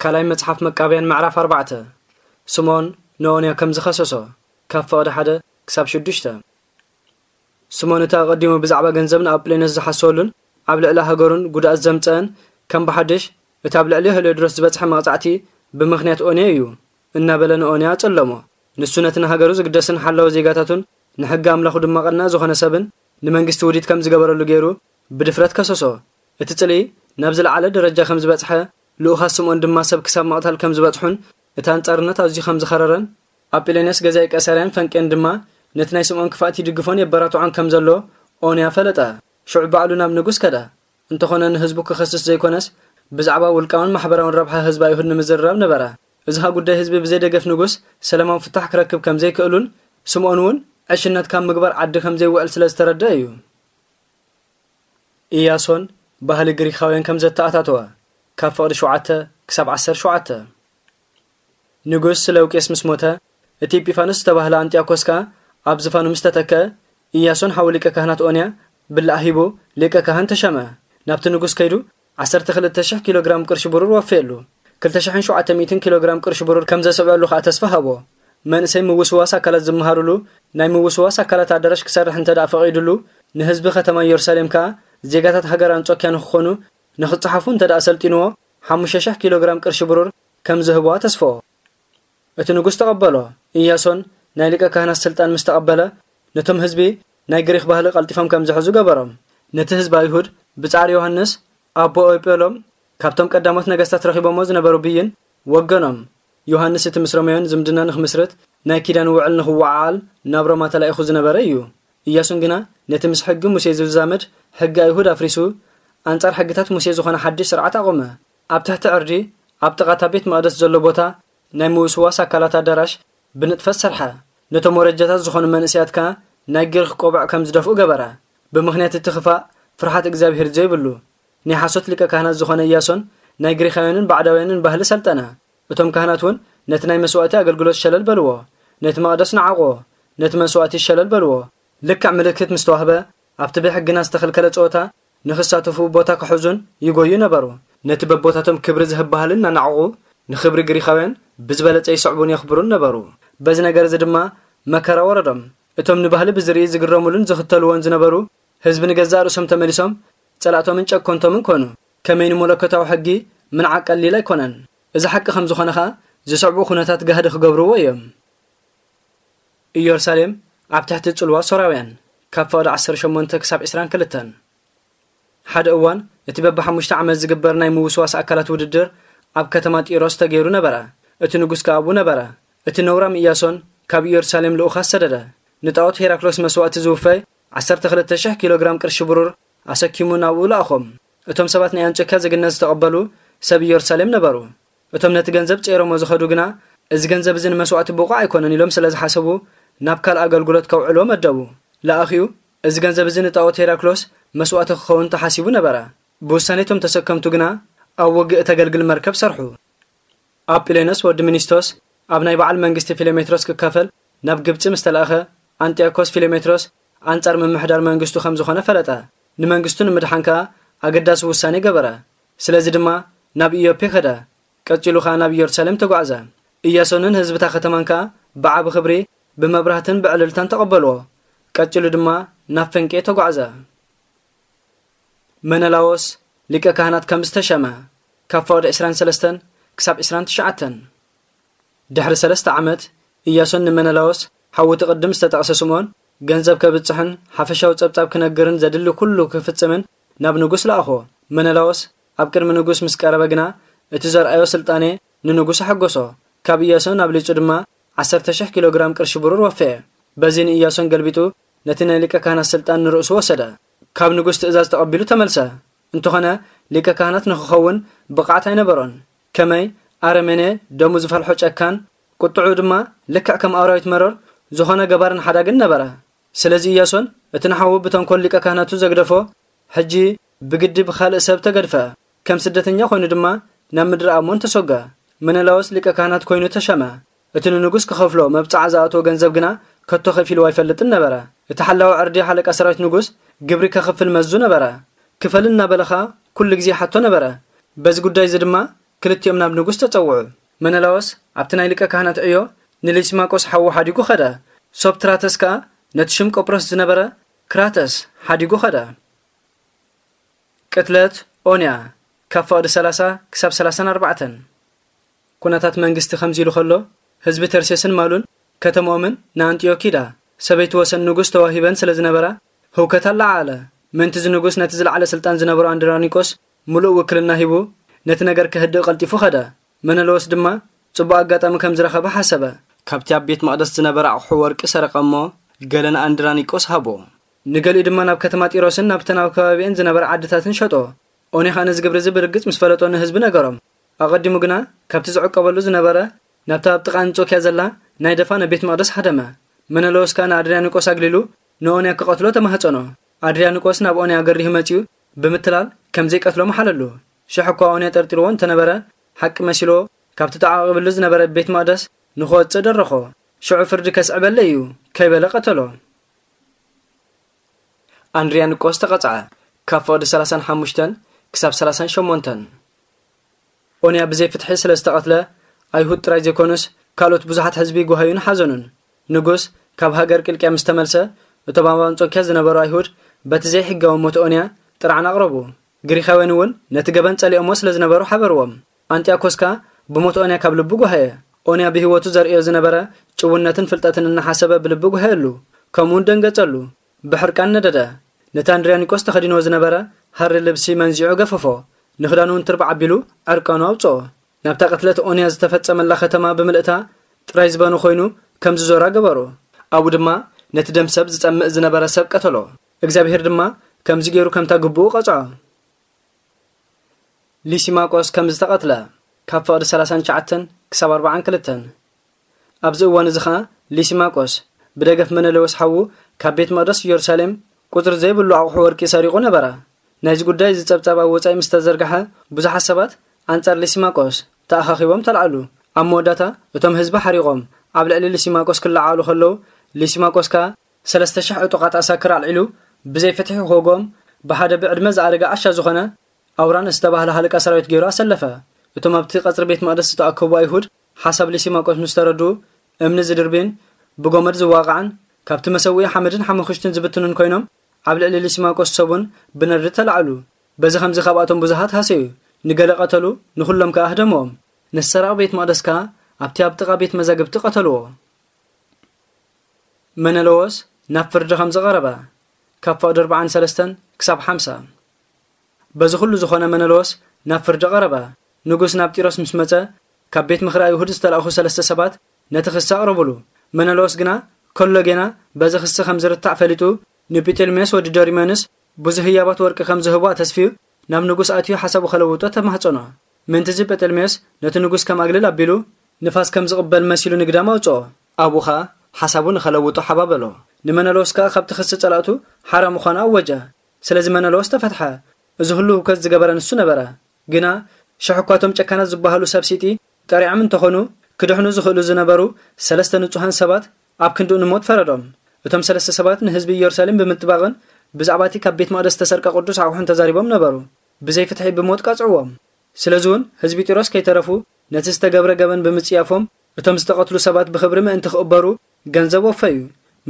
ካልኣይ መጽሓፍ መቃብያን ምዕራፍ ኣርባዕተ። ስምኦን ንኦንያ ከም ዝኸሰሶ፣ ካብ ፍቕዲ ሓደ ክሳብ ሽዱሽተ። ስምኦን እቲ ኣቐዲሙ ብዛዕባ ገንዘብ ንኣጵሌኖስ ዝሓሰወሉን ኣብ ልዕሊ ሃገሩን ጉድኣት ዘምጸአን፣ ከም ብሓድሽ እቲ ኣብ ልዕሊ ሄልዮድሮስ ዝበጽሐ መቕጻዕቲ ብምኽንያት ኦንያ እዩ እናበለ ንኦንያ ኣጸለሞ። ንሱ ነቲ ንሃገሩ ዝግደስን ሓላዊ ዜጋታቱን ንሕጊ ኣምላኹ ድማ ቀናእ ዝኾነ ሰብን ንመንግስቲ ውዲት ከም ዝገበረሉ ገይሩ ብድፍረት ከሰሶ። እቲ ጽልኢ ናብ ዝለዓለ ደረጃ ከም ዝበጽሐ፣ ልኡኻት ስምኦን ድማ ሰብ ክሳብ ምቕታል ከም ዝበጽሑን እቲ ኣንጻርነት ኣዝዩ ከም ዝኸረረን፣ ኣጲሌንዮስ ገዛኢ ቀሳርያን ፈንቄን ድማ ነቲ ናይ ስምኦን ክፋእቲ ይድግፎን የበራትዖን ከም ዘሎ ኦንያ ፈለጠ። ሽዑ ባዕሉ ናብ ንጉስ ከደ። እንተኾነ ንህዝቡ ክኸስስ ዘይኮነስ፣ ብዛዕባ ውልቃውን ማሕበራውን ረብሓ ህዝቢ ኣይሁድ ንምዝርራብ ነበረ። እዚ ኸኣ ጉዳይ ህዝቢ ብዘይ ደገፍ ንጉስ ሰላማዊ ፍታሕ ክረክብ ከም ዘይክእሉን፣ ስምኦን እውን ዕሽነት ካብ ምግባር ዓዲ ከም ዘይውዕል ስለ ዝተረድአ እዩ። ኢያሶን ባህሊ ግሪኻውያን ከም ዘተኣታተወ፣ ካብ ፍቕዲ ሸውዓተ ክሳብ ዓሰርተ ሸውዓተ። ንጉስ ስለውቄስ ምስ ሞተ፣ እቲ ኢጲፋኖስ ዝተባህለ ኣንጢያኮስ ከኣ ኣብ ዝፋኑ ምስ ተተክአ፣ ኢያሶን ሓው ሊቀ ካህናት ኦንያ ብላዕ ሂቡ ሊቀ ካህን ተሸመ። ናብቲ ንጉስ ከይዱ ዓሰርተ ክልተ ሽሕ ኪሎ ግራም ቅርሺ ብሩር ወፈየሉ። ክልተ ሽሕን ሸውዓተ ሚእትን ኪሎ ግራም ቅርሺ ብሩር ከም ዘስዕበሉ ከኣ ተስፋ ሃቦ። መንእሰይ ምውስዋስ ኣካላት ዝመሃሩሉ ናይ ምውስዋስ ኣካላት ኣዳራሽ ክሰርሕ እንተ ደኣ ፈቒዱሉ፣ ንህዝቢ ከተማ ኢየሩሳሌም ከኣ ዜጋታት ሃገር ኣንጾክያ ንኽኾኑ ንኽጸሓፉ እንተ ደኣ ሰልጢንዎ፣ ሓሙሽተ ሽሕ ኪሎ ግራም ቅርሺ ብሩር ከም ዝህብዋ ተስፍኦ። እቲ ንጉስ ተቐበሎ። ኢያሶን ናይ ሊቀ ካህናት ስልጣን ምስ ተቐበለ፣ ነቶም ህዝቢ ናይ ግሪኽ ባህሊ ቀልጢፎም ከም ዝሕዙ ገበሮም። ነቲ ህዝቢ ኣይሁድ ብጻዕሪ ዮሃንስ ኣቦ ኦይጴሎም ካብቶም ቀዳሞት ነገስታት ረኺቦሞ ዝነበሩ ብይን ወገኖም። ዮሃንስ እቲ ምስ ሮማውያን ዝምድና ንኽምስርት ናይ ኪዳን ውዕል ንኽወዓዓል ናብ ሮማ ተላኢኹ ዝነበረ እዩ። ኢያሱን ግና ነቲ ምስ ሕጊ ሙሴ ዝዛመድ ሕጊ ኣይሁድ ኣፍሪሱ፣ ኣንጻር ሕግታት ሙሴ ዝኾነ ሓድሽ ስርዓት ኣቖመ። ኣብ ትሕቲ ዕርዲ፣ ኣብ ጥቓ እታ ቤት መቕደስ ዘሎ ቦታ፣ ናይ ምውስዋስ ኣካላት ኣዳራሽ ብንጥፈት ሰርሐ። ነቶም ወረጃታት ዝኾኑ መንእሰያት ከኣ ናይ ግሪኽ ቆብዕ ከም ዝደፍኡ ገበረ። ብምኽንያት እቲ ክፋእ፣ ፍርሃት እግዚኣብሄር ዘይብሉ፣ ናይ ሓሶት ሊቀ ካህናት ዝኾነ ኢያሶን ናይ ግሪኻውያንን ባዕዳውያንን ባህሊ ሰልጠነ። እቶም ካህናት እውን ነቲ ናይ መስዋእቲ ኣገልግሎት ሸለል በልዎ። ነቲ መቕደስ ነዓቕዎ። ነቲ መስዋእቲ ሸለል በልዎ። ልክዕ ምልክት ምስ ተዋህበ፣ ኣብቲ ብሕግና ዝተኸልከለ ጸወታ ንኽሳተፉ ቦታ ክሕዙን ይጎዩ ነበሩ። ነቲ በቦታቶም ክብሪ ዝህብ ባህሊ እናናዕቑ፣ ንኽብሪ ግሪኻውያን ብዝበለጸ ይስዕቡን የኽብሩን ነበሩ። በዚ ነገር እዚ ድማ መከራ ወረዶም። እቶም ንባህሊ ብዝርኢ ዝግረሙሉን ዝኽተልዎን ዝነበሩ ህዝቢ ንገዛእ ርእሶም ተመሊሶም ጸላእቶምን ጨኮንቶምን ኮኑ። ከመይ ንመለኮታዊ ሕጊ ምንዓቕ ቀሊል ኣይኮነን። እዚ ሓቂ ከም ዝኾነ ኸኣ ዝስዕቡ ኩነታት ጋህዲ ክገብርዎ እዮም። ኢየሩሳሌም ኣብ ትሕቲ ጽልዋ ሶራውያን፣ ካብ ፍቕዲ ዓሰርተ ሸሞንተ ክሳብ ዕስራን ክልተን። ሓደ እዋን እቲ በብሓሙሽተ ዓመት ዝግበር ናይ ምውስዋስ ኣካላት ውድድር ኣብ ከተማ ጢሮስ ተገይሩ ነበረ። እቲ ንጉስ ከኣ ኣብኡ ነበረ። እቲ ነውራም ኢያሶን ካብ ኢየሩሳሌም ልኡኻት ሰደደ። ንጣኦት ሄራክሎስ መስዋእቲ ዝውፈይ ዓሰርተ ክልተ ሽሕ ኪሎ ግራም ቅርሺ ብሩር ኣሰኪሙ ናብኡ ለኣኾም። እቶም ሰባት ናይ ኣንጾክያ ዜግነት ዝተቐበሉ ሰብ ኢየሩሳሌም ነበሩ። እቶም ነቲ ገንዘብ ጸይሮሞ ዝኸዱ ግና፣ "እዚ ገንዘብ እዚ ንመስዋእቲ ብቑዕ ኣይኮነን" ኢሎም ስለ ዝሓሰቡ፣ ናብ ካልእ ኣገልግሎት ከውዕልዎ መደቡ። ለኣኺኡ፣ እዚ ገንዘብ እዚ ንጣኦት ሄራክሎስ መስዋእቲ ክኸውን ተሓሲቡ ነበረ። ብውሳኔ እቶም ተሰከምቱ ግና፣ ኣብ ውግእ እተገልግል መርከብ ሰርሑ። ኣጲሌኖስ ወዲ ሚኒስቶስ፣ ኣብ ናይ በዓል መንግስቲ ፊሎሜትሮስ ክካፈል ናብ ግብጺ ምስ ተላእኸ፣ ኣንጢዮኮስ ፊሎሜትሮስ ኣንጻር ምምሕዳር መንግስቱ ከም ዝኾነ ፈለጠ። ንመንግስቱ ንምድሓን ከኣ ኣገዳሲ ውሳኔ ገበረ። ስለዚ ድማ ናብ ኢዮፔ ከደ። ቀጺሉ ከኣ ናብ ኢየሩሳሌም ተጓዕዘ። ኢያሶንን ህዝብታ ከተማን ከኣ ብዓቢ ክብሪ፣ ብመብራህትን ብዕልልታን ተቐበልዎ። ቀጺሉ ድማ ናብ ፈንቄ ተጓዕዘ። መነላዎስ ሊቀ ካህናት ከም ዝተሸመ፣ ካብ ፍቕዲ ዕስራን ሰለስተን ክሳብ ዕስራን ትሽዓተን። ድሕሪ ሰለስተ ዓመት፣ ኢያሶን ንመነላዎስ፣ ሓው እቲ ቅድም ዝተጠቕሰ ስምኦን፣ ገንዘብ ከብጽሕን ሓፈሻዊ ጸብጻብ ክነግርን ዘድሊ ኩሉ ክፍጽምን ናብ ንጉስ ለኣኾ። መነላዎስ ኣብ ቅድሚ ንጉስ ምስ ቀረበ ግና፣ እቲ ዘርኣዮ ስልጣኔ ንንጉስ ኣሐጎሶ። ካብ ኢያሶን ኣብሊጹ ድማ ዓሰርተ ሽሕ ኪሎ ግራም ቅርሺ ብሩር ወፈየ። በዚ ንኢያሶን ገልቢጡ ነቲ ናይ ሊቀ ካህናት ስልጣን ንርእሱ ወሰደ። ካብ ንጉስ ትእዛዝ ተቐቢሉ ተመልሰ። እንተኾነ ሊቀ ካህናት ንኽኸውን ብቕዓት ኣይነበሮን። ከመይ ኣረሜኔ፣ ደሙ ዝፈልሖ ጨካን፣ ቁጥዑ ድማ ልክዕ ከም ኣራዊት መረር ዝኾነ ገባርን ሓዳግን ነበረ። ስለዚ ኢያሶን እቲ ንሓዉ ብተንኮል ሊቀ ካህናቱ ዘግደፎ፣ ሕጂ ብግዲ ብኻልእ ሰብ ተገድፈ። ከም ስደተኛ ኮይኑ ድማ ናብ ምድሪ ኣሞን ተሰጎ። መነላዎስ ሊቀ ካህናት ኮይኑ ተሸመ። እቲ ንንጉስ ክኸፍሎ መብጽዓ ዝኣተዎ ገንዘብ ግና ከቶ ከፊልዎ ኣይፈልጥን ነበረ። እቲ ሓላዊ ዕርዲ ሓለቃ ሰራዊት ንጉስ ግብሪ ከኽፍል መዙ ነበረ። ክፈል እናበለ ኸኣ ኩሉ ግዜ ይሓቶ ነበረ። በዚ ጉዳይ እዚ ድማ ክልቲኦም ናብ ንጉስ ተጸውዑ። መነላዎስ ኣብቲ ናይ ሊቀ ካህናት ዕዮ ንሊሲማቆስ ሓዉ ሓዲጉ ኸደ። ሶብትራተስ ከኣ ነቲ ሽም ቆጵሮስ ዝነበረ ክራተስ ሓዲጉ ኸደ። ቅትለት ኦንያ፣ ካብ ፍቕዲ ሰላሳ ክሳብ ሰላሳን ኣርባዕተን። ኩነታት መንግስቲ ከምዚ ኢሉ ከሎ፣ ህዝቢ ተርሴስን ማሉን ከተምኦምን ንኣንጢዮኪዳ ሰበይቲ ወሰን ንጉስ ተዋሂበን ስለ ዝነበራ፣ ህውከት ኣለዓዓለ። ምእንቲ እዚ ንጉስ ነቲ ዝለዓለ ስልጣን ዝነበሮ ኣንድራኒቆስ ምሉእ ውክልና ሂቡ፣ ነቲ ነገር ከህድእ ቀልጢፉ ኸደ። መነለዎስ ድማ ጽቡቕ ኣጋጣሚ ከም ዝረኸበ ሓሰበ። ካብቲ ኣብ ቤት መቕደስ ዝነበረ ኣቑሑ ወርቂ ሰረቐ እሞ፣ ገለ ንኣንድራኒቆስ ሃቦ። ንገሊኡ ድማ ናብ ከተማ ጢሮስን ናብተን ኣብ ከባቢአን ዝነበራ ዓድታትን ሸጦ። ኦኔ ኸኣ ነዚ ግብሪ እዚ ብርግጽ ምስ ፈለጦ ንህዝቢ ነገሮም። ኣቐዲሙ ግና ካብቲ ዝዕቀበሉ ዝነበረ ናብታ ኣብ ጥቓ ኣንጾኪያ ዘላ ናይ ደፋነ ቤት መቕደስ ሃደመ። መነለዎስ ከኣ ንኣድርያኒቆስ ኣግሊሉ ንኦንያ ክቐትሎ ተማህጸኖ። ኣድርያኒቆስ ናብ ኦንያ ገሪሁ መጺኡ ብምትላል ከም ዘይቀትሎ መሓለሉ። ሽሕ እኳ ኦንያ ጠርጢርዎ እንተነበረ፣ ሓቂ መሲልዎ ካብቲ ተዓቒብሉ ዝነበረ ቤት መቕደስ ንኽወጽእ ደረኾ። ሽዑ ፍርዲ ከስዕበለይ እዩ ከይበለ ቀተሎ። ኣንድርያኒቆስ ተቐጽዐ፣ ካብ ፍቕዲ ሰላሳን ሓሙሽተን ክሳብ ሰላሳን ሸሞንተን። ኦንያ ብዘይ ፍትሒ ስለ ዝተቐትለ፣ ኣይሁድ ጥራይ ዘይኮኑስ፣ ካልኦት ብዙሓት ህዝቢ ጓሃዩን ሓዘኑን። ንጉስ ካብ ሃገር ቂልቅያ ምስ ተመልሰ፣ እቶም ኣብ ኣንጾኪያ ዝነበሩ ኣይሁድ በቲ ዘይሕጋዊ ሞት ኦንያ ጥርዓን ኣቕረቡ። ግሪኻውያን እውን ነቲ ገበን ጸሊኦሞ ስለ ዝነበሩ ሓበርዎም። ኣንጢያኮስ ከኣ ብሞት ኦንያ ካብ ልቡ ጓሃየ። ኦንያ ብህይወቱ ዘርእዮ ዝነበረ ጭውነትን ፍልጠትን እናሓሰበ ብልቢ ጓሃየሉ፣ ከምኡውን ደንገጸሉ። ብሕርቃን ነደደ። ነቲ ኣንድርያኒቆስ ተኸዲንዎ ዝነበረ ሃሪ ልብሲ መንዚዑ ገፈፎ። ንኽዳኑ እውን ትርባዕ ኣቢሉ ዕርቃኑ ኣውጽኦ። ናብታ ቅትለት ኦንያ ዝተፈጸመላ ከተማ ብምልእታ ጥራይ ዝበኑ ኮይኑ ከም ዝዞራ ገበሩ። ኣብኡ ድማ ነቲ ደም ሰብ ዝጸምእ ዝነበረ ሰብ ቀተሎ። እግዚኣብሄር ድማ ከምዚ ገይሩ ከምታ ግብኡ ቀጽዖ። ሊሲማቆስ ከም ዝተቐትለ፣ ካብ ፍቕዲ ሰላሳን ትሽዓተን ክሳብ ኣርባዓን ክልተን። ኣብዚ እዋን እዚ ኸኣ ሊሲማቆስ ብደገፍ መነለዎስ ሓዉ ካብ ቤት መቕደስ ኢየሩሳሌም ቁጽሪ ዘይብሉ ኣቑሑ ወርቂ ሰሪቑ ነበረ። ናይዚ ጉዳይ እዚ ጸብጻብ ኣብ ወጻኢ ምስ ተዘርግሐ፣ ብዙሓት ሰባት ኣንጻር ሊሲማቆስ ተኣኻኺቦም ተላዕሉ። ኣብ መወዳእታ እቶም ህዝቢ ሓሪቖም ኣብ ልዕሊ ሊሲማቆስ ክለዓሉ ከለዉ፣ ሊሲማቆስ ከኣ ሰለስተ ሽሕ ዕጡቓት ኣሳክር ኣልዒሉ ብዘይ ፍትሒ ክወግኦም ብሓደ ብዕድመ ዝኣረገ ዓሻ ዝኾነ ኣውራን ዝተባህለ ሃለቃ ሰራዊት ገይሩ ኣሰለፈ። እቶም ኣብቲ ቀጽሪ ቤት መቕደስ ዝተኣከቡ ኣይሁድ ሓሳብ ሊሲማቆስ ምስ ተረድኡ፣ እምኒ ዝድርብዩን ብጎመድ ዝዋቕዓን ካብቲ መሰውኢ ሓመድን ሓመኹሽትን ዝብትኑን ኮይኖም፣ ኣብ ልዕሊ ሊሲማቆስ ሰቡን ብነድሪ ተላዕሉ። በዚ ኸምዚ ካብኣቶም ብዙሃት ሃሰዩ፣ ንገለ ቀተሉ፣ ንኹሎም ከኣ ኣህደምዎም። ነቲ ሰራቒ ቤት መቕደስ ከኣ ኣብቲ ኣብ ጥቓ ቤት መዛግብቲ ቀተልዎ። መነለዎስ ናብ ፍርዲ ከም ዝቐረበ፣ ካብ ፍቕዲ ኣርባዓን ሰለስተን ክሳብ ሓምሳ። በዚ ኹሉ ዝኾነ መነለዎስ ናብ ፍርዲ ቀረበ። ንጉስ ናብ ጢሮስ ምስ መጸ፣ ካብ ቤት ምኽሪ ኣይሁድ ዝተላእኹ ሰለስተ ሰባት ነቲ ክሲ ኣቕረቡሉ። መነለዎስ ግና ከሎ ጌና በዚ ክሲ ከም ዝርታዕ ፈሊጡ፣ ንጲጤልሜዎስ ወዲ ዶሪመንስ ብዙህ ህያባት ወርቂ ከም ዝህቦ ኣተስፍዩ፣ ናብ ንጉስ ኣትዩ ሓሳቡ ከለውጦ ተማህጸኖ። ምእንቲ እዚ ጴጠልሜዎስ ነቲ ንጉስ ከም ኣግልል ኣቢሉ፣ ንፋስ ከም ዝቕበል መሲሉ ንግዳም ኣውጽኦ። ኣብኡ ኸኣ ሓሳቡ ንኸለውጦ ሓባበሎ። ንመነለዎስ ከኣ ካብቲ ክሲ ጸላእቱ ሓራ ምዃኑ ኣወጀ። ስለዚ መነለዎስ ተፈትሐ። እዚ ኹሉ ህውከት ዝገበረ ንሱ ነበረ። ግና ሽሕ እኳ እቶም ጨካናት ዝበሃሉ ሰብ ሲጢ ጠሪዖም እንተኾኑ፣ ክድሕኑ ዝኽእሉ ዝነበሩ ሰለስተ ንጹሃን ሰባት ኣብ ክንድኡ ንሞት ፈረዶም። እቶም ሰለስተ ሰባት ንህዝቢ ኢየሩሳሌም ብምጥባቕን ብዛዕባ እቲ ካብ ቤት መቕደስ ዝተሰርቀ ቅዱስ ኣቑሑን ተዛሪቦም ነበሩ። ብዘይ ፍትሒ ብሞት ቀጽዕዎም። ስለዚ እውን ህዝቢ ጢሮስ ከይተረፉ ነቲ ዝተገብረ ገበን ብምጽያፎም፣ እቶም ዝተቐትሉ ሰባት ብኽብሪ ምእንቲ ክቕበሩ ገንዘብ ወፈዩ።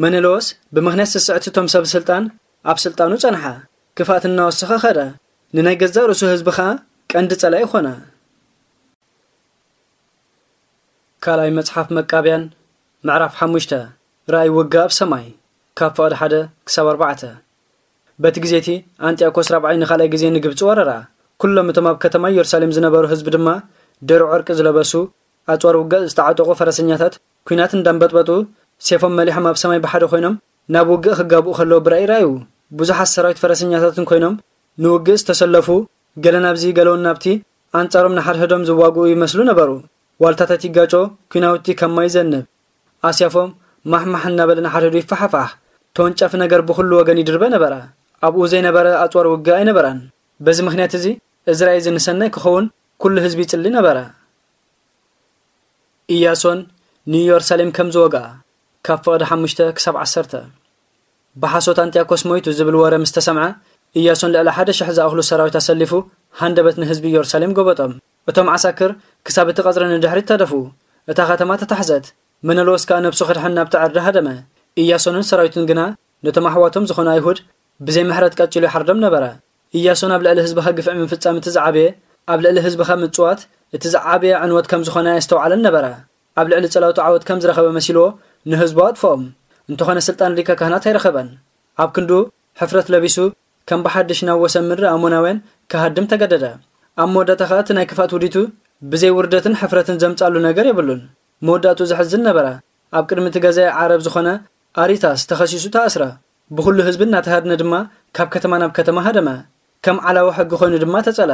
መነለዎስ ብምኽንያት ስስዕቲ እቶም ሰብ ስልጣን ኣብ ስልጣኑ ጸንሐ። ክፍኣት እናወሰኸ ኸደ። ንናይ ገዛእ ርእሱ ህዝቢ ኸኣ ቀንዲ ጸላኢ ኾነ። ካልኣይ መጽሓፍ መቃብያን፣ ምዕራፍ ሓሙሽተ። ራእይ ውግእ ኣብ ሰማይ፣ ካብ ፍቕዲ ሓደ ክሳብ ኣርባዕተ። በቲ ግዜ እቲ፣ ኣንጢያኮስ ራብዓይ ንኻልኣይ ግዜ ንግብጺ ወረራ። ኩሎም እቶም ኣብ ከተማ ኢየሩሳሌም ዝነበሩ ህዝቢ ድማ፣ ድሩዕ ዕርቂ ዝለበሱ፣ ኣጽዋር ውግእ ዝተዓጠቑ ፈረሰኛታት፣ ኲናት እንዳንበጥበጡ፣ ሴፎም መሊሖም ኣብ ሰማይ ብሓደ ኮይኖም፣ ናብ ውግእ ክጋብኡ ከለዉ ብራእይ ረኣዩ። ብዙሓት ሰራዊት ፈረሰኛታትን ኮይኖም፣ ንውግእ ዝተሰለፉ፣ ገለ ናብዚ፣ ገለውን ናብቲ፣ ኣንጻሮም ንሓድሕዶም ዝዋግኡ ይመስሉ ነበሩ። ዋልታታት ይጋጮ፣ ኲናውቲ ከም ማይ ይዘንብ። ኣስያፎም ማሕማሕ እናበለ ንሓድሕዱ ይፈሓፋሕ። ተወንጫፊ ነገር ብኹሉ ወገን ይድርበ ነበረ። ኣብኡ ዘይነበረ ኣጽዋር ውግእ ኣይነበረን። በዚ ምኽንያት እዚ፣ እዚ ራእይ እዚ ንሰናይ ክኸውን ኩሉ ህዝቢ ይጽሊ ነበረ። ኢያሶን ንኢየሩሳሌም ከም ዝወግኣ፣ ካብ ፍቕዲ ሓሙሽተ ክሳብ ዓሰርተ። ብሓሶት ኣንጢያኮስ ሞይቱ ዝብል ወረ ምስ ተሰምዐ፣ ኢያሶን ልዕሊ ሓደ ሽሕ ዝኣኽሉ ሰራዊት ኣሰሊፉ ሃንደበት ንህዝቢ ኢየሩሳሌም ጎበጦም። እቶም ዓሳክር ክሳብ እቲ ቀጽሪ ንድሕሪት ተደፍኡ። እታ ከተማ ተታሕዘት። መነሎስ ከኣ ነብሱ ክድሕን ናብቲ ዕርዲ ሃደመ። ኢያሶንን ሰራዊቱን ግና ነቶም ኣሕዋቶም ዝኾኑ ኣይሁድ ብዘይ ምሕረት ቀጺሉ ይሓርዶም ነበረ። ኢያሶን ኣብ ልዕሊ ህዝብኻ ግፍዒ ምፍጻም እቲ ዝዓበየ፣ ኣብ ልዕሊ ህዝብኻ ምጽዋት እቲ ዝዓበየ ዕንወት ከም ዝኾነ ኣየስተውዓለን ነበረ። ኣብ ልዕሊ ጸላእቱ ዓወት ከም ዝረኸበ መሲልዎ ንህዝቡ ኣጥፍኦም። እንተኾነ ስልጣን ሊቀ ካህናት ኣይረኸበን። ኣብ ክንዱ ሕፍረት ለቢሱ ከም ብሓድሽ ናብ ወሰን ምድሪ ኣሞናውያን ክሃድም ተገደደ። ኣብ መወዳእታ ኸኣ እቲ ናይ ክፍኣት ውዲቱ ብዘይ ውርደትን ሕፍረትን ዘምጻሉ ነገር የብሉን። መወዳእቱ ዘሕዝን ነበረ። ኣብ ቅድሚ እቲ ገዛኢ ዓረብ ዝኾነ ኣሪታስ ተኸሲሱ ተኣስረ። ብኹሉ ህዝቢ እናተሃድነ ድማ ካብ ከተማ ናብ ከተማ ሃደመ። ከም ዓላዊ ሕጊ ኮይኑ ድማ ተጸለ።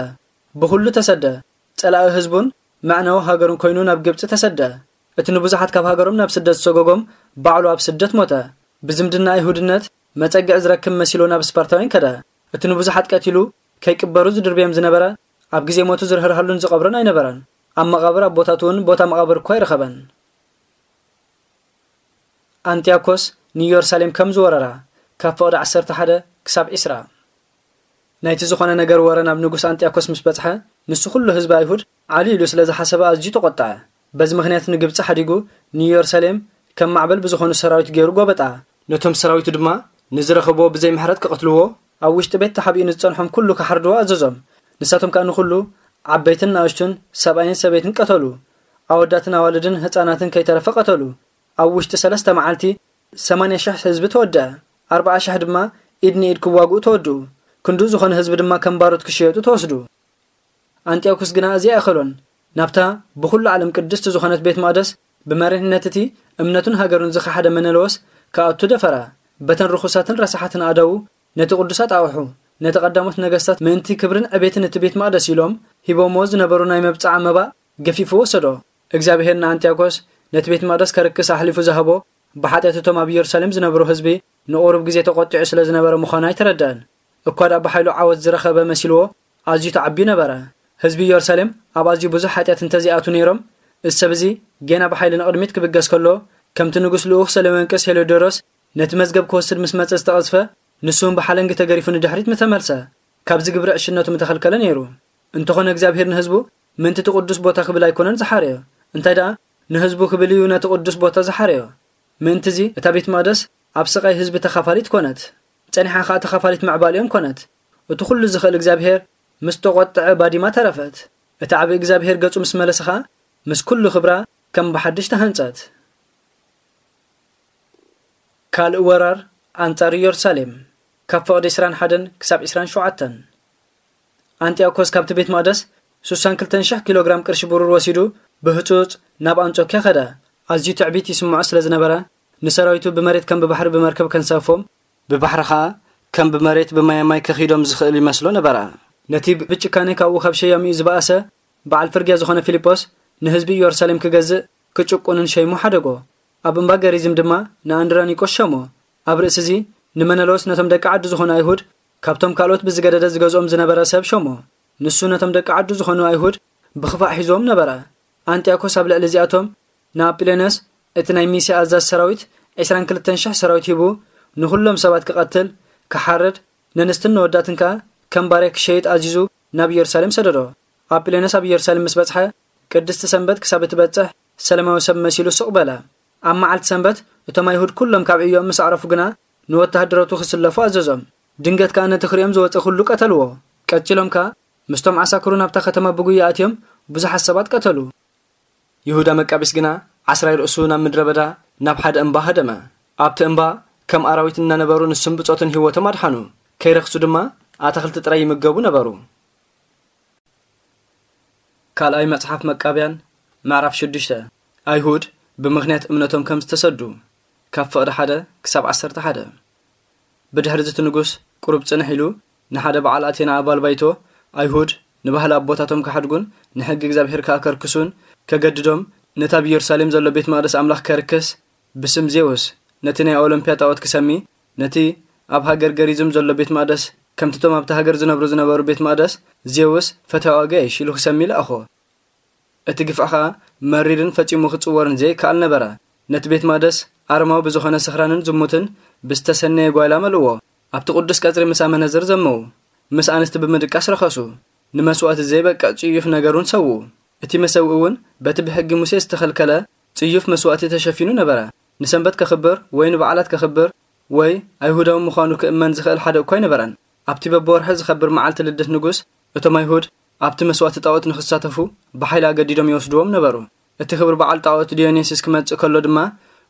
ብኹሉ ተሰደ። ጸላኢ ህዝቡን መዕነዊ ሃገሩን ኮይኑ ናብ ግብጺ ተሰደ። እቲ ንብዙሓት ካብ ሃገሮም ናብ ስደት ዝሰጎጎም ባዕሉ ኣብ ስደት ሞተ። ብዝምድና ኣይሁድነት መጸግዒ ዝረክብ መሲሉ ናብ ስፓርታውያን ከደ። እቲ ንብዙሓት ቀቲሉ ከይቅበሩ ዝድርብዮም ዝነበረ ኣብ ግዜ ሞቱ ዝርህርሃሉን ዝቐብሮን ኣይነበረን። ኣብ መቓብር ኣቦታቱ እውን ቦታ መቓብር እኳ ኣይረኸበን። ኣንጢያኮስ ንኢየሩሳሌም ከም ዝወረራ ካብ ፍቕዲ ዓሰርተ ሓደ ክሳብ ዒስራ። ናይቲ ዝኾነ ነገር ወረ ናብ ንጉስ ኣንጢያኮስ ምስ በጽሐ፣ ንሱ ኩሉ ህዝቢ ኣይሁድ ዓሊ ኢሉ ስለ ዝሓሰበ ኣዝዩ ተቖጥዐ። በዚ ምኽንያት ንግብጺ ሓዲጉ ንኢየሩሳሌም ከም ማዕበል ብዝኾኑ ሰራዊት ገይሩ ጎበጣ። ነቶም ሰራዊቱ ድማ ንዝረኸብዎ ብዘይ ምሕረት ክቐትልዎ፣ ኣብ ውሽጢ ቤት ተሓቢኡ ንዝጸንሖም ኩሉ ክሓርድዎ ኣዘዞም። ንሳቶም ከኣ ንኹሉ ዓበይትን ንኣሽቱን ሰብኣይን ሰበይትን ቀተሉ። ኣወዳትን ኣዋልድን ህጻናትን ከይተረፈ ቀተሉ። ኣብ ውሽጢ ሰለስተ መዓልቲ ሰማንያ ሽሕ ህዝቢ ተወድአ። ኣርብዓ ሽሕ ድማ ኢድ ንኢድ ክዋግኡ ተወድኡ። ክንድኡ ዝኾነ ህዝቢ ድማ ከም ባሮት ክሽየጡ ተወስዱ። ኣንጢዮኩስ ግና እዚ ኣይኣኸሎን። ናብታ ብኹሉ ዓለም ቅድስቲ ዝኾነት ቤት መቕደስ ብመሪሕነት እቲ እምነቱን ሃገሩን ዝኸሓደ መነለዎስ ክኣቱ ደፈረ። በተን ርኹሳትን ረሳሓትን ኣእዳዉ ነቲ ቅዱስ ኣጣቕሑ፣ ነቲ ቀዳሞት ነገስታት ምእንቲ ክብርን ዕቤትን እቲ ቤት መቕደስ ኢሎም ሂቦምዎ ዝነበሩ ናይ መብጽዓ መባእ ገፊፉ ወሰዶ። እግዚኣብሄር ንኣንጢዮኮስ ነቲ ቤት መቕደስ ከርክስ ኣሕሊፉ ዝሃቦ ብሓጢኣት እቶም ኣብ ኢየሩሳሌም ዝነብሩ ህዝቢ ንቑሩብ ግዜ ተቖጢዑ ስለ ዝነበረ ምዃኑ ኣይተረድአን። እኳ ደኣ ብሓይሉ ዓወት ዝረኸበ መሲልዎ ኣዝዩ ተዓብዩ ነበረ። ህዝቢ ኢየሩሳሌም ኣብ ኣዝዩ ብዙሕ ሓጢኣት እንተዘይኣትዉ ነይሮም፣ እዚ ሰብ እዚ ጌና ብሓይሊ ንቕድሚት ክብገስ ከሎ፣ ከምቲ ንጉስ ልኡኽ ሰለሜንቅስ ሄሎዶሮስ ነቲ መዝገብ ክወስድ ምስ መጸ ዝተቐዝፈ፣ ንሱ እውን ብሓለንጊ ተገሪፉ ንድሕሪት ምተመልሰ፣ ካብዚ ግብሪ ዕሽነቱ ምተኸልከለ ነይሩ። እንተኾነ እግዚኣብሄር ንህዝቡ ምእንቲ እቲ ቅዱስ ቦታ ክብል ኣይኮነን ዝሓረዮ፣ እንታይ ደኣ ንህዝቡ ክብል እዩ ነቲ ቅዱስ ቦታ ዝሓረዮ። ምእንቲ እዚ እታ ቤት መቕደስ ኣብ ስቓይ ህዝቢ ተኻፋሊት ኮነት፣ ጸኒሓ ኸኣ ተኻፋሊት ምዕባሊኦም ኮነት። እቲ ኩሉ ዝኽእል እግዚኣብሄር ምስ ተቖጥዐ ባዲማ ተረፈት። እቲ ዓቢ እግዚኣብሄር ገጹ ምስ መለሰ ኸኣ ምስ ኩሉ ክብራ ከም ብሓድሽ ተሃንጸት። ካልእ ወራር ኣንጻር ኢየሩሳሌም፣ ካብ ፍቕዲ ዕስራን ሓደን ክሳብ ዕስራን ሸውዓተን። ኣንጢዮኮስ ካብቲ ቤት መቕደስ ሱሳን ክልተን ሽሕ ኪሎ ግራም ቅርሺ ብሩር ወሲዱ ብህጹጽ ናብ ኣንጾኪያ ከደ። ኣዝዩ ትዕቢት ይስምዖ ስለ ዝነበረ፣ ንሰራዊቱ ብመሬት ከም ብባሕሪ ብመርከብ ከንሳፎም፣ ብባሕሪ ኸኣ ከም ብመሬት ብማየ ማይ ከኺዶም ዝኽእል ይመስሎ ነበረ። ነቲ ብጭካኔ ካብኡ ካብ ሸያሚኡ ዝበኣሰ በዓል ፍርግያ ዝኾነ ፊልጶስ ንህዝቢ ኢየሩሳሌም ክገዝእ ክጭቁንን ሸይሙ ሓደጎ። ኣብ እምባ ገሪዝም ድማ ንኣንድሮኒቆስ ሸሞ። ኣብ ርእሲ እዚ ንመነሎስ ነቶም ደቂ ዓዱ ዝኾኑ ኣይሁድ ካብቶም ካልኦት ብዝገደደ ዝገዝኦም ዝነበረ ሰብ ሸሞ። ንሱ ነቶም ደቂ ዓዱ ዝኾኑ ኣይሁድ ብኽፋእ ሒዝዎም ነበረ። ኣንጢዮኮስ ኣብ ልዕሊ እዚኣቶም ንኣጲሎኖስ እቲ ናይ ሚስያ ኣዛዚ ሰራዊት ዕስራን ክልተን ሽሕ ሰራዊት ሂቡ ንኹሎም ሰባት ክቐትል፣ ክሓርድ፣ ነንስትን ነወዳትን ከኣ ከም ባርያ ክሸይጥ ኣዚዙ ናብ ኢየሩሳሌም ሰደዶ። ኣጲሎኖስ ኣብ ኢየሩሳሌም ምስ በጽሐ ቅድስቲ ሰንበት ክሳብ እትበጽሕ ሰለማዊ ሰብ መሲሉ ስቕ በለ። ኣብ መዓልቲ ሰንበት እቶም ኣይሁድ ኩሎም ካብ ዕዮኦም ምስ ኣዕረፉ ግና ንወተሃደራቱ ክስለፉ ኣዘዞም። ድንገት ከኣ ነቲ ክሪኦም ዝወጸ ኩሉ ቀተልዎ። ቀጺሎም ከኣ ምስቶም ዓሳክሩ ናብታ ከተማ ብጉያ ኣትዮም ብዙሓት ሰባት ቀተሉ። ይሁዳ መቃቢስ ግና ዓስራይ ርእሱ ናብ ምድረ በዳ ናብ ሓደ እምባ ሃደመ። ኣብቲ እምባ ከም ኣራዊት እናነበሩ ንሱን ብጾቱን ህይወቶም ኣድሓኑ። ከይረኽሱ ድማ ኣታኽልቲ ጥራይ ይምገቡ ነበሩ። ካልኣይ መጽሓፍ መቃብያን ምዕራፍ ሽዱሽተ። ኣይሁድ ብምኽንያት እምነቶም ከም ዝተሰዱ፣ ካብ ፍቕዲ ሓደ ክሳብ ዓሰርተ ሓደ። ብድሕሪ እዚ እቲ ንጉስ ቁሩብ ጽንሕ ኢሉ ንሓደ በዓል ኣቴና ኣባል ባይቶ፣ ኣይሁድ ንባህሊ ኣቦታቶም ክሓድጉን ንሕጊ እግዚኣብሄር ከኣ ከርክሱን ከገድዶም፣ ነቲ ኣብ ኢየሩሳሌም ዘሎ ቤት መቕደስ ኣምላኽ ከርክስ፣ ብስም ዜውስ ነቲ ናይ ኦሎምፕያ ጣኦት ክሰሚ፣ ነቲ ኣብ ሃገር ገሪዝም ዘሎ ቤት መቕደስ ከምቲ እቶም ኣብቲ ሃገር ዝነብሩ ዝነበሩ ቤት መቕደስ ዜውስ ፈታዊ ኣጋይሽ ኢሉ ክሰሚ ለኣኾ። እቲ ግፍዒ ኸኣ መሪርን ፈጺሙ ክጽወርን ዘይከኣል ነበረ። ነቲ ቤት መቕደስ ኣረማዊ ብዝኾነ ስኽራንን ዝሙትን ብዝተሰነየ ጓይላ መልእዎ። ኣብቲ ቅዱስ ቀጽሪ ምስ ኣመነዝር ዘመዉ። ምስ ኣንስቲ ብምድቃስ ረኸሱ። ንመስዋእቲ ዘይበቅዕ ጽዩፍ ነገር እውን ሰውኡ። እቲ መሰውኢ እውን በቲ ብሕጊ ሙሴ ዝተኸልከለ ጽዩፍ መስዋእቲ ተሸፊኑ ነበረ። ንሰንበት ከኽብር ወይ ንበዓላት ከኽብር ወይ ኣይሁዳዊ ምዃኑ ክእመን ዝኽእል ሓደ እኳ ኣይነበረን። ኣብቲ በብወርሒ ዝኸብር መዓልቲ ልደት ንጉስ፣ እቶም ኣይሁድ ኣብቲ መስዋእቲ ጣዖት ንኽሳተፉ ብሓይሊ ኣገዲዶም ይወስድዎም ነበሩ። እቲ ክብሪ በዓል ጣዖት ዲዮኒስስ ክመጽእ ከሎ ድማ፣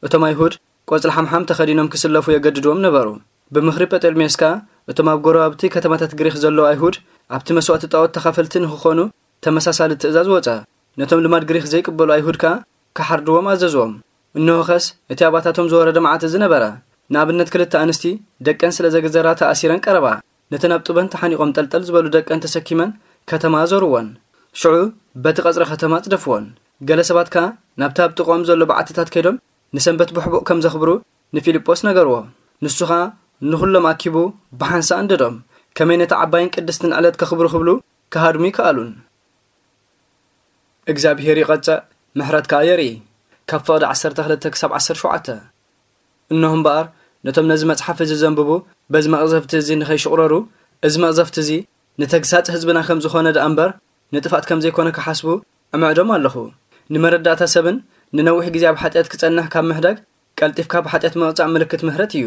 እቶም ኣይሁድ ቆጽሊ ሓምሓም ተኸዲኖም ክስለፉ የገድድዎም ነበሩ። ብምኽሪ ጴጠልሜስካ፣ እቶም ኣብ ጎረባብቲ ከተማታት ግሪኽ ዘለዉ ኣይሁድ ኣብቲ መስዋእቲ ጣዖት ተኻፈልቲ ንኽኾኑ ተመሳሳሊ ትእዛዝ ወጸ። ነቶም ልማድ ግሪኽ ዘይቅበሉ ኣይሁድ ከኣ ክሓርድዎም ኣዘዝዎም። እንሆኸስ እቲ ኣባታቶም ዝወረደ መዓት እዚ ነበረ። ንኣብነት ክልተ ኣንስቲ ደቀን ስለ ዘግዘራ ተኣሲረን ቀረባ። ነተን ኣብ ጡበን ተሓኒቖም ጠልጠል ዝበሉ ደቀን ተሰኪመን ከተማ ኣዞርወን። ሽዑ በቲ ቀጽሪ ከተማ ኣጽደፍወን። ገለ ሰባት ከኣ ናብቲ ኣብ ጥቕኦም ዘሎ በዓትታት ከይዶም ንሰንበት ብሕቡእ ከም ዘኽብሩ ንፊልጶስ ነገርዎ። ንሱ ኸኣ ንኹሎም ኣኪቡ ብሓንሳእ ኣንደዶም። ከመይ ነቲ ዓባይን ቅድስትን ዕለት ከኽብሩ ክብሉ ክሃድሙ ይከኣሉን። እግዚኣብሄር ይቐጽዕ፣ ምሕረት ከኣ የርኢ። ካብ ፍቕዲ ዓሰርተ ክልተ ክሳብ ዓሰርተ ሸውዓተ። እንሆ እምበኣር፣ ነቶም ነዚ መጽሓፍ እዚ ዘንብቡ፣ በዚ መቕዘፍቲ እዚ ንኸይሽቑረሩ፣ እዚ መቕዘፍቲ እዚ ንተግሳጽ ህዝብና ከም ዝኾነ ደኣ እምበር፣ ንጥፍኣት ከም ዘይኮነ ክሓስቡ እምዕዶም ኣለኹ። ንመረዳእታ ሰብን ንነዊሕ ግዜ ኣብ ሓጢኣት ክጸንሕ ካብ ምሕዳግ፣ ቀልጢፍካ ብሓጢኣት ምቕጻዕ ምልክት ምሕረት እዩ።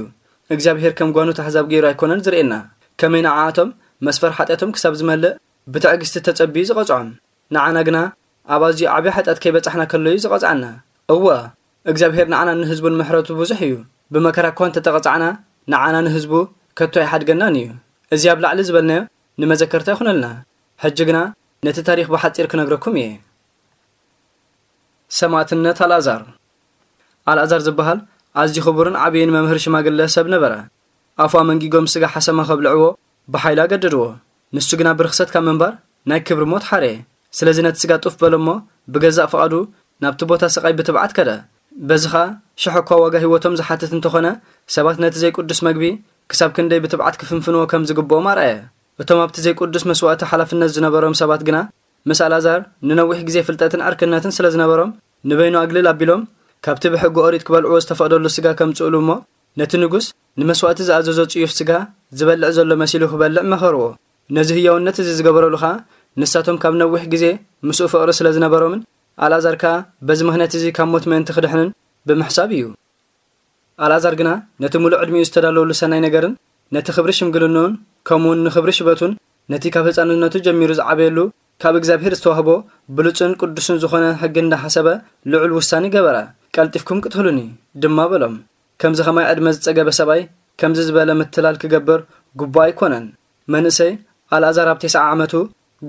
እግዚኣብሄር ከም ጓኖት ኣሕዛብ ገይሩ ኣይኮነን ዝርእየና። ከመይ ንዓኣቶም መስፈር ሓጢኣቶም ክሳብ ዝመልእ ብትዕግስቲ ተጸቢዩ ዝቐጽዖም። ንዓና ግና ኣብ ኣዝዩ ዓቢ ሓጢኣት ከይበጻሕና ከሎ እዩ ዝቐጽዓና። እወ፣ እግዚኣብሄር ንዓናን ንህዝቡን ምሕረቱ ብዙሕ እዩ። ብመከራ እኳ እንተተቐጻዕና፣ ንዓና ንህዝቡ ከቶ ኣይሓድገናን እዩ። እዚ ኣብ ላዕሊ ዝበልናዮ ንመዘከርታ ይኹነልና። ሕጂ ግና ነቲ ታሪኽ ብሓጺር ክነግረኩም እየ። ሰማዕትነት ኣልኣዛር። ኣልኣዛር ዝበሃል ኣዝዩ ክቡርን ዓብይን መምህር ሽማግለ ሰብ ነበረ። ኣፉ ኣመንጊጎም ስጋ ሓሰማ ከብልዕዎ ብሓይሊ ኣገደድዎ። ንሱ ግና ብርኽሰት ካብ ምንባር ናይ ክብሪ ሞት ሓረየ። ስለዚ ነቲ ስጋ ጡፍ በሎ እሞ ብገዛእ ፍቓዱ ናብቲ ቦታ ስቓይ ብትብዓት ከደ። በዚ ኸኣ ሽሕ እኳ ዋጋ ህይወቶም ዝሓትት እንተኾነ፣ ሰባት ነቲ ዘይቅዱስ መግቢ ክሳብ ክንደይ ብትብዓት ክፍንፍንዎ ከም ዝግብኦም ኣርኣየ። እቶም ኣብቲ ዘይቅዱስ መስዋእቲ ሓላፍነት ዝነበሮም ሰባት ግና ምስ ኣልኣዛር ንነዊሕ ግዜ ፍልጠትን ዕርክነትን ስለ ዝነበሮም፣ ንበይኑ ኣግልል ኣቢሎም ካብቲ ብሕጊ ኦሪት ክበልዕዎ ዝተፈቕደሉ ስጋ ከምጽእሉ እሞ፣ ነቲ ንጉስ ንመስዋእቲ ዝኣዘዞ ጽዩፍ ስጋ ዝበልዕ ዘሎ መሲሉ ክበልዕ መኸርዎ። ነዚ ህያውነት እዚ ዝገበረሉ ኸኣ ንሳቶም ካብ ነዊሕ ግዜ ምስኡ ፍቕሪ ስለ ዝነበሮምን ኣልኣዛር ከኣ በዚ ምኽንያት እዚ ካብ ሞት ምእንቲ ክድሕንን ብምሕሳብ እዩ። ኣልኣዛር ግና ነቲ ምሉእ ዕድሚኡ ዝተዳለወሉ ሰናይ ነገርን ነቲ ክብሪ ሽምግልንኡን ከምኡውን ንክብሪ ሽበቱን ነቲ ካብ ህጻንነቱ ጀሚሩ ዝዓበየሉ ካብ እግዚኣብሔር ዝተዋህቦ ብሉጽን ቅዱስን ዝኾነ ሕጊ እንዳሓሰበ ልዑል ውሳኔ ገበረ። "ቀልጢፍኩም ቅትሉኒ" ድማ በሎም። ከምዚ ኸማይ ዕድመ ዝጸገበ ሰብኣይ ከምዚ ዝበለ ምትላል ክገብር ግቡእ ኣይኮነን። መንእሰይ ኣልኣዛር ኣብ ተስዓ ዓመቱ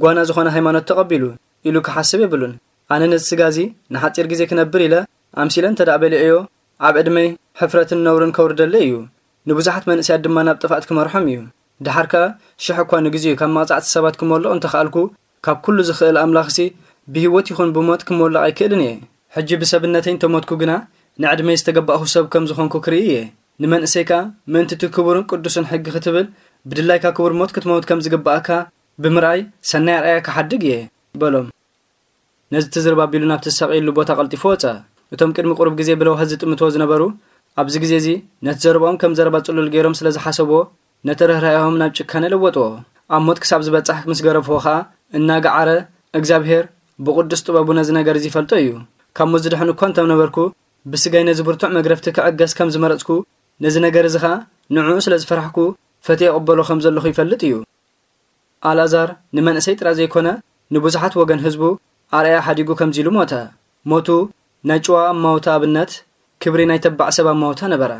ጓና ዝኾነ ሃይማኖት ተቐቢሉ ኢሉ ክሓስብ የብሉን። ኣነ ነዚ ስጋ እዚ ንሓጺር ግዜ ክነብር ኢለ ኣምሲለ እንተ ደኣ በሊዐዮ፣ ኣብ ዕድመይ ሕፍረትን ነውርን ከውርደለይ እዩ። ንብዙሓት መንእሰያት ድማ ናብ ጥፍኣት ክመርሖም እዩ። ደሓር ከኣ ሽሕ እኳ ንግዜኡ ካብ መቕጻዕቲ ሰባት ክመልቕ እንተ ኸኣልኩ፣ ካብ ኩሉ ዝኽእል ኣምላኽሲ ብህይወት ይኹን ብሞት ክመልቕ ኣይክእልን እየ። ሕጂ ብሰብነተይ እንተ ሞትኩ ግና፣ ንዕድመይ ዝተገባእኹ ሰብ ከም ዝኾንኩ ክርኢ እየ። ንመንእሰይ ከኣ ምእንቲ እቲ ክቡርን ቅዱስን ሕጊ ክትብል፣ ብድላይካ ክቡር ሞት ክትመውት ከም ዝግብኣካ ብምርኣይ ሰናይ ኣርኣያ ክሓድግ እየ በሎም። ነዚ ትዝርብ ኣቢሉ ናብቲ ዝሳቐየሉ ቦታ ቀልጢፉ ወጸ። እቶም ቅድሚ ቁሩብ ግዜ ብለውሃት ዝጥምትዎ ዝነበሩ፣ ኣብዚ ግዜ እዚ ነቲ ዘረባኦም ከም ዘረባ ጽሉል ገይሮም ስለ ዝሓሰብዎ፣ ነቲ ርህራሄኦም ናብ ጭካነ ለወጥዎ። ኣብ ሞት ክሳብ ዝበጽሕ ምስ ገረፍዎ ኸኣ፣ እናገዓረ፣ "እግዚኣብሄር ብቕዱስ ጥበቡ ነዚ ነገር እዚ ይፈልጦ እዩ። ካብ ሞት ዝድሕን እኳ እንተ ነበርኩ፣ ብስጋይ ነዚ ብርቱዕ መግረፍቲ ክዕገስ ከም ዝመረጽኩ፣ ነዚ ነገር እዚ ኸኣ ንዕኡ ስለ ዝፈራሕኩ፣ ፈትየ እቕበሎ ከም ዘለኹ ይፈልጥ እዩ።" ኣልኣዛር ንመንእሰይ ጥራይ ዘይኮነ፣ ንብዙሓት ወገን ህዝቡ ኣርኣያ ሓዲጉ ከምዚ ኢሉ ሞተ። ሞቱ ናይ ጭዋ ኣማውታ ኣብነት፣ ክብሪ ናይ ተባዕ ሰብ ኣማውታ ነበረ።